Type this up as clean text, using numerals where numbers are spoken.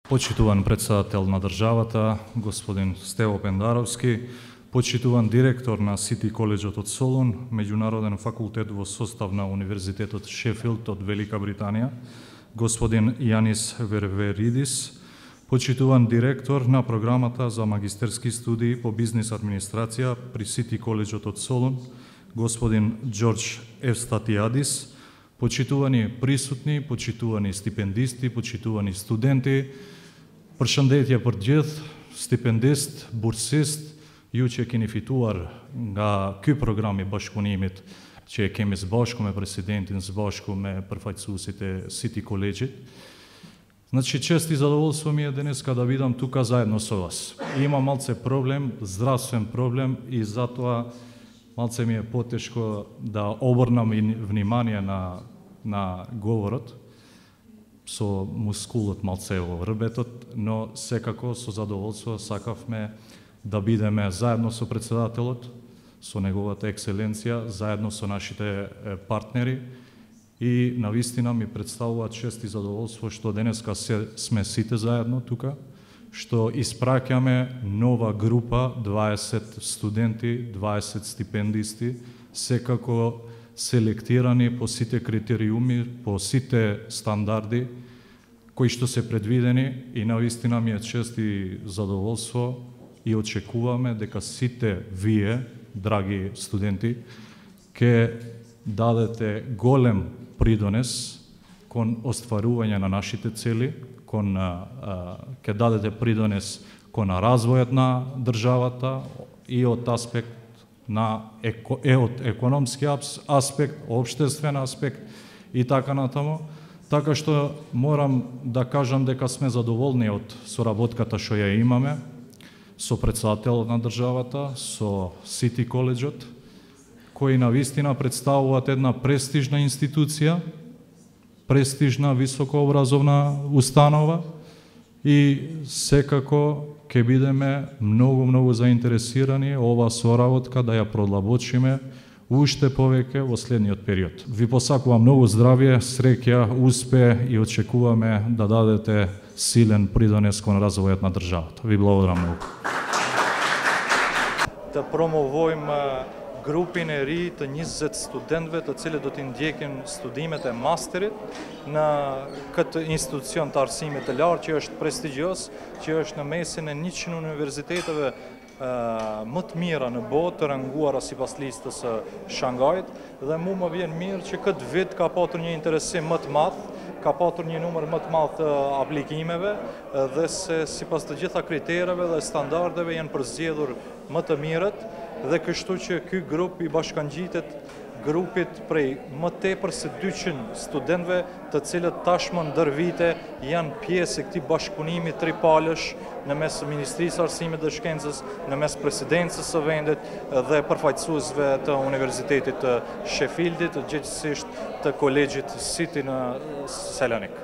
Почитуван председател на државата, господин Стево Пендаровски, почитуван директор на Сити Коледжот од Солун, меѓународен факултет во состав на Универзитетот Шефилд од Велика Британија, господин Јанис Верверидис, почитуван директор на програмата за магистерски студии по бизнис администрација при Сити Коледжот од Солун, господин Џорџ Евстатијадис, почитувани присутни, почитувани стипендисти, почитувани студенти, përshëndetje për gjithë, stipendist, bursist, ju që keni fituar nga ky program I bashkëpunimit që e kemi së bashku me presidentin, së bashku me përfaqësuesit e City College-it. Значи, чест и задоволство ми е денеска да видам тука заедно со вас. Има малце проблем, здравствен проблем и затоа малце ми е потешко да обрнам внимание на говорот, со мускулот малце во рбетот, но секако со задоволство сакавме да бидеме заедно со председателот, со неговата екселенција, заедно со нашите партнери и навистина ми представува чест и задоволство што денеска сме сите заедно тука, што испраќаме нова група, 20 студенти, 20 стипендисти, секако селектирани по сите критериуми, по сите стандарди кои што се предвидени и навистина ми е чест и задоволство и очекуваме дека сите вие, драги студенти, ќе дадете голем придонес кон остварување на нашите цели, ќе дадете придонес кон развојот на државата и од аспект од економски аспект, обштествен аспект и така натаму. Така што морам да кажам дека сме задоволни од соработката што ја имаме со председателот на државата, со Сити Коледжот, кои навистина представуваат една престижна институција, престижна високообразовна установа и секако ќе бидеме многу заинтересирани ова соработка да ја продлабочиме уште повеќе во следниот период. Ви посакувам многу здравје, среќа, успех и очекуваме да дадете силен придонес кон развојот на државата. Ви благодарам многу. Да промовојме групин е ри të 20 studentëve të cilët do t'i ndjekin studimet e masterit në këtë institucion të arsimit të lartë që është prestigjos, që është në mesin e 100 universiteteve më të mira në botë, të ranguara sipas listës së Shangajit, dhe mu më vjen mirë që këtë vit ka patur një interesim më të madh, ka patur një numër më të madh të aplikimeve dhe se sipas të gjitha kritereve dhe standardeve janë përzgjedhur më të mirët dhe kështu që ky grup I bashkangjitet grupit prej më tepër se 200 studentëve të cilët tashmë ndër vite janë pjesë e këtij bashkëpunimi tripalësh në mes Ministrisë së Arsimit dhe Shkencës, në mes Presidencës së vendit dhe përfaqësuesve të Universitetit të Sheffieldit, gjithsesi të Kolegjit City në Selanik.